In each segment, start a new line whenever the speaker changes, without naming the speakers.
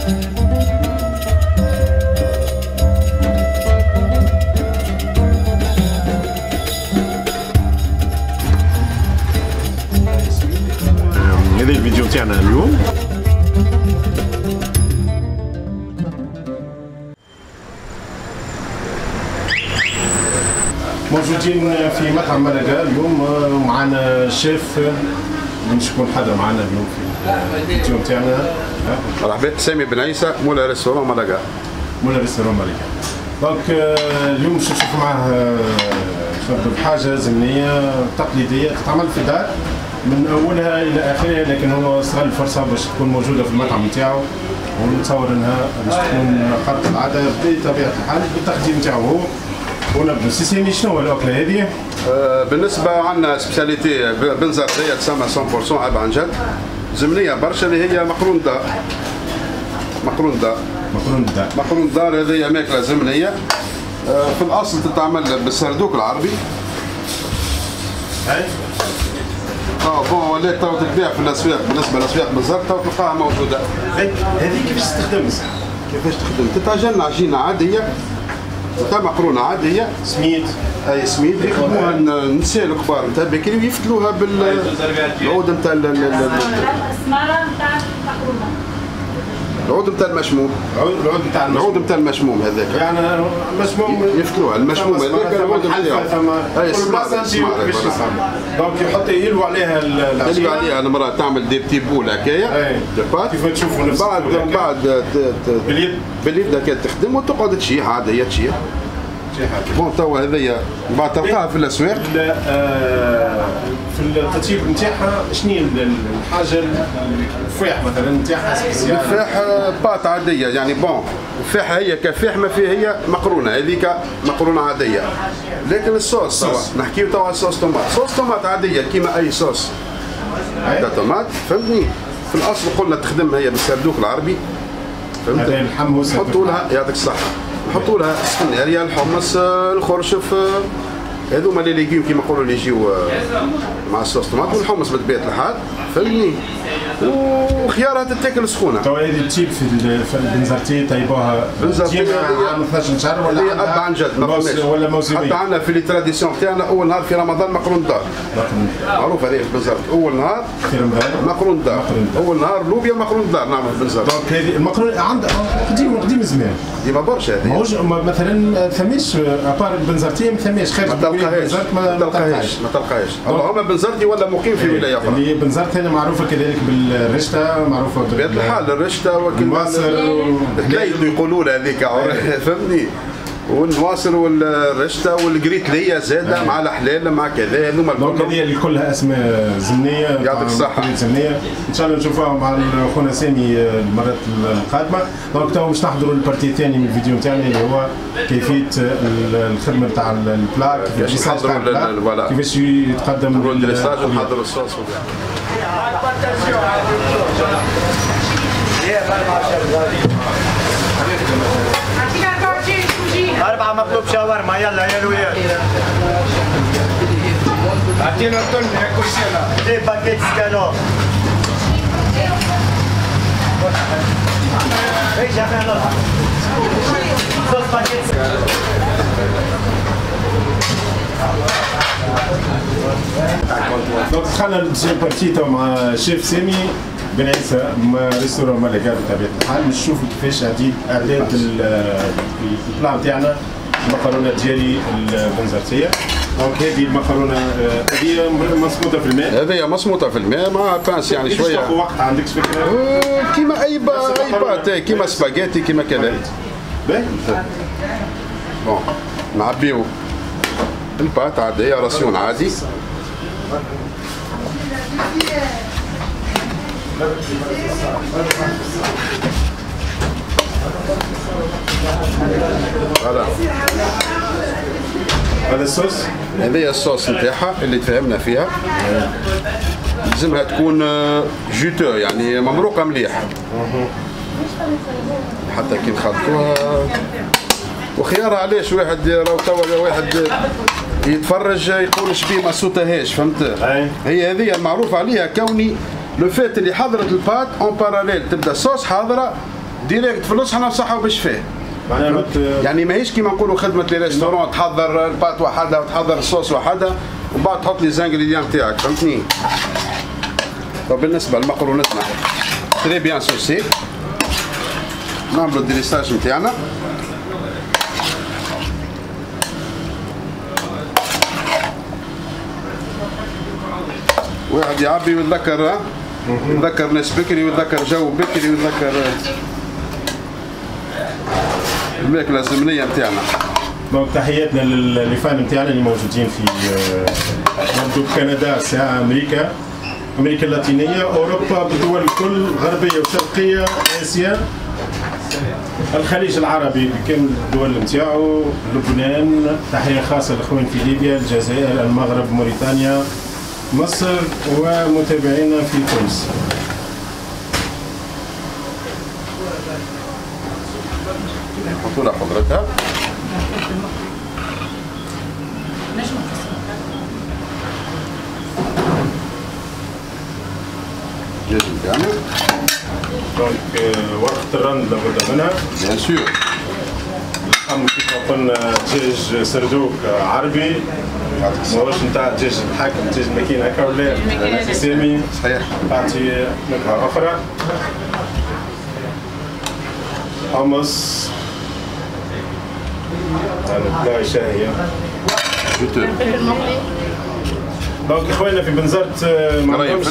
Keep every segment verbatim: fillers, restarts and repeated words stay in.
هذا الفيديو تاعنا اليوم. موجودين في مطعم ملقا اليوم، ومعنا الشيف اللي باش يكون حاضر معنا اليوم في الفيديو تاعنا.
مرحبا، سامي بن عيسى مولا restaurant ملقا.
مولا restaurant ملقا. donc اليوم باش نشوفوا معاه حاجة زمنية تقليدية تتعمل في الدار من اولها الى اخرها، لكن هو استغل الفرصة باش تكون موجودة في المطعم نتاعو، ونتصور انها باش تكون خارقة العادة بطبيعة الحال بالتقديم نتاعو هو. ونبدو سي سامي، شنو هو الاكلة هذه؟
أه بالنسبة عندنا spécialité بنزرتيه تسمى مية بالمية اب عن جد، زمنية برشا اللي هي مقرون دار. مقرون دار
مقرون دار
مقرون دار هذه ماكله زمنية. أه في الاصل تتعمل بالسردوك العربي.
اي
اه bon ولات تو تتباع في الاسواق، بالنسبة للاسواق بالضبط تو تلقاها موجودة.
هذه كيفاش تخدم؟
كيفاش تخدم؟ تتعجن عجينه عادية تاع مقرونة عادية،
سميد.
اي سميد يخدموها النساء الكبار نتاع بكري ويفتلوها بالعود نتاع
السماره نتاع المقرونه.
العود نتاع المشموم.
العود نتاع
العود نتاع المشموم هذاك،
يعني المشموم
يفتلوها المشموم هذاك العود نتاعو.
كل بلاصة نجيو كيفاش يصنع. donc يحط يلوى عليها العجينة،
يلوى عليها المراة تعمل des petites boules هكايا des pâtes
كيف تشوفوا نفس
بعد من بعد
باليد
باليد هكا تخدم وتقعد تشيح عادية تشيح. bon توا هذيا بعد تلقاها في الاسواق.
في التطيب نتاعها شنو هي الحاجة الفاح مثلا نتاعها spécial؟
الفاح pâte عادية يعني bon الفاحه هي كفاح ما فيها، هي مقرونة هذيك مقرونة عادية، لكن الصوص توا نحكيو توا على ال sauce tomate. sauce tomate عادية كيما اي صوص تاع طوماط، فهمتني؟ في الاصل قلنا تخدم هي بالسردوك العربي، فهمت؟ نحطوا لها يعطيك الصحة، نحطوا لها السفناريه، الحمص، الخرشف، هذوما les légumes كيما نقولوا اللي يجيو مع ال sauce tomate والحمص بطبيعة الحال، فهمتني؟ وخيارها تتاكل سخونة.
توا هذه تجيب في البنزرتيه طيبوها
بنزرتيه
عام اثناش شهر ولا
اب عن جد ما فماش
ولا موسميه؟
حتى عندنا في les traditions تاعنا اول نهار في رمضان مقرون دار. معروف هذه في بنزرت، اول نهار
في رمضان
مقرون دار، اول نهار لوبيا مقرون دار نعمل في بنزرت.
donc هذه المقرون عند قديم قديم زمان
ديما برشا هذه.
ماهوش مثلا ثماش à part البنزرتيه ما ثماش خارج
ما تلقاهاش ما تلقاهاش ما تلقاهاش. اللهم بنزرتي ولا مقيم في ولاية اخرى.
اللي بنزرت هنا معروفة كذلك بالرشته، معروفة
بطبيعة الحال الرشته
والنواصر
التليد يقولوا لها هذيك، فهمتني؟ والنواصر والرشته والقريتليه زاده مع الحلال مع كذا هذوما
الكل. donc هذه اللي كلها اسماء زمنية.
يعطيك الصحة
زمنية، ان شاء الله نشوفوها مع خونا سامي المرات القادمة. donc تو باش نحضروا ال partie الثاني من الفيديو نتاعنا اللي هو كيفية الخدمة نتاع ال plat،
كيفاش نحضروا
كيفاش يتقدم
ال dressage ونحضروا الصوص.
أربعة مطلوب شاورما، يلا يا الولاد.
أعطينا طن كل سنة.
deux paquets escalope. إيش أخي زوز paquets.
donc دخلنا ال deuxième partie تو مع شيف سامي بن عيسى restaurant ملقا بطبيعة الحال، باش نشوفوا كيفاش اعداد اعداد ال plat نتاعنا المقرونه ديالي البنزرتيه. donc هذه المقرونه هذه مصموطه في الماء.
هذه مصموطه في الماء مع pince يعني شوية.
تاخذ وقت عندك فكرة؟
كيما اي اي pâte، كيما سباغيتي كيما كذا.
باهي
bon نعبيو ال pâte عادية ration عادي. voilà
هذا الصوص،
هذه هي الصوص نتاعها اللي تفاهمنا فيها. لازمها تكون juteux يعني ممروقه مليح حتى كي نخلطوها. وخيارها علاش واحد راهو توا واحد يتفرج يقول شبيه ما صوتهاش، فهمت؟ هي هذه المعروف عليها كوني le fait اللي حضرت ال pâte en parallèle تبدا صوص حاضره direct في الصحن صحة وبالشفاء.
معناها
يعني ماهيش كيما نقولوا خدمة les restaurants، تحضر ال pâte وحدها وتحضر الصوص وحدها ومن بعد تحط les ingrédients تاعك، فهمتني؟ طب بالنسبة لمقرونتنا très bien saucée، نعملوا ال dressage نتاعنا. واحد يعبي ويتذكر، يتذكر ناس بكري ويتذكر جو بكري ويتذكر الماكلة الزمنية نتاعنا.
donc تحياتنا لل fans نتاعنا اللي موجودين في نبدو كندا، ساعة امريكا، امريكا اللاتينية، اوروبا، بالدول الكل، غربية وشرقيه، اسيا، الخليج العربي بكامل الدول نتاعو، لبنان، تحية خاصة للاخوان في ليبيا، الجزائر، المغرب، موريتانيا، مصر، ومتابعينا في تونس.
نحطوا لها خضرتها. الدجاج نتاعنا.
donc ورقة الرند لابد منها.
bien sûr.
اللحم كيف ما قلنا دجاج سردوك عربي، ماهوش نتاع دجاج الحاكم، دجاج الماكينة هكا ولا سامي؟
صحيح.
تعطي نكهة أخرى. حمص يعني plat شهية. donc إخواننا في بنزرت ما عندهمش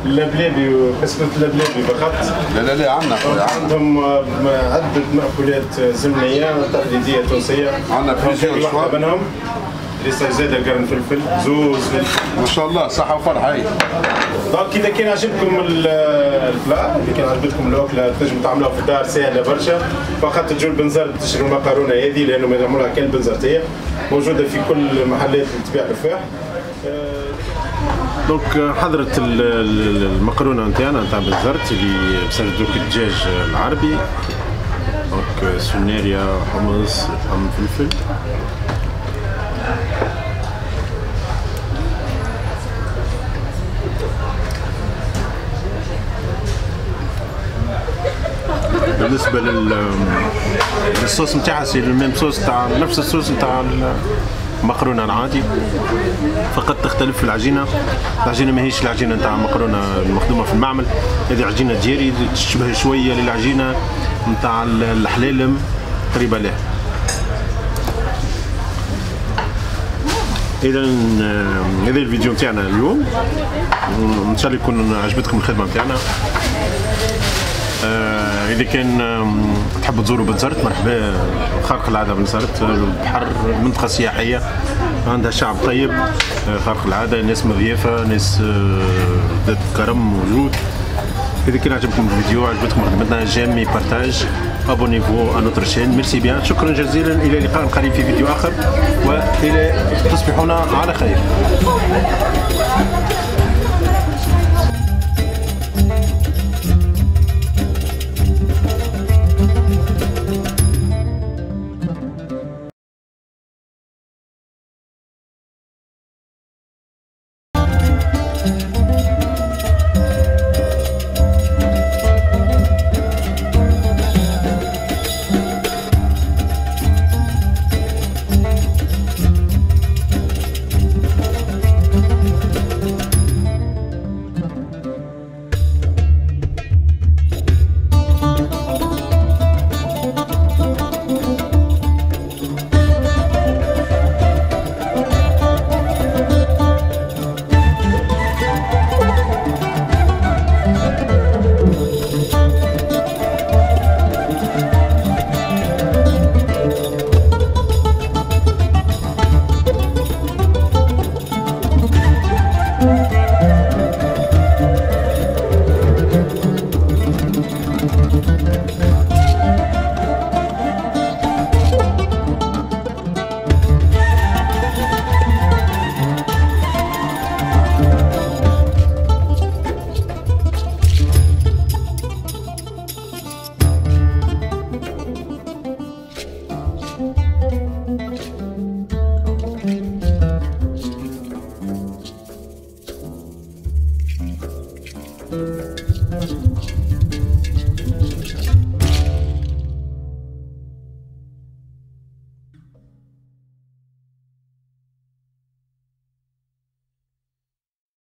اللبلابي وكسكسو اللبلابي فقط.
لا لا لا عندنا خويا،
عندهم عدة مأكولات زمنية تقليدية تونسية.
عندنا plusieurs choix
منهم لسه زاد القرن فلفل زوز فلفل.
ما شاء الله صحة وفرحة. هاي
donc إذا كان عجبكم ال plat، إذا كان عجبتكم الأكلة تنجموا تعملوها في الدار سهلة برشا، فقط تجوا لبنزرت تشروا المقارونة هذه لأنه ما يعملوها كان البنزرتية، موجودة في كل المحلات اللي تبيع الفاح. donc حضرت المقرونه نتاعنا نتاع بنزرت اللي بسردوك الدجاج العربي. donc سناريا، حمص، لحم، فلفل. بالنسبة لل للصوص نتاعها c'est le même sauce تاع نفس الصوص نتاع المقرونه العادي، فقط تختلف في العجينة. العجينة ماهيش العجينة نتاع المقرونه المخدومه في المعمل، هذه عجينه دياري تشبه شوية للعجينه نتاع الحلالم، قريبه لها. اذا هذا الفيديو نتاعنا اليوم، ان شاء الله يكون عجبتكم الخدمة نتاعنا. اذا كان تحبوا تزوروا بنزرت مرحبا، خارق العادة بنزرت، البحر، منطقة سياحية عندها شعب طيب، خارق العادة، ناس مضيافه، ناس ذات كرم موجود. اذا كان عجبكم الفيديو، عجبتكم خدمتنا، j'aime، partage، abonnez-vous à notre chaîne. merci bien، شكرا جزيلا، الى لقاء قريب في فيديو اخر، والى تصبحون على خير. We'll be right back.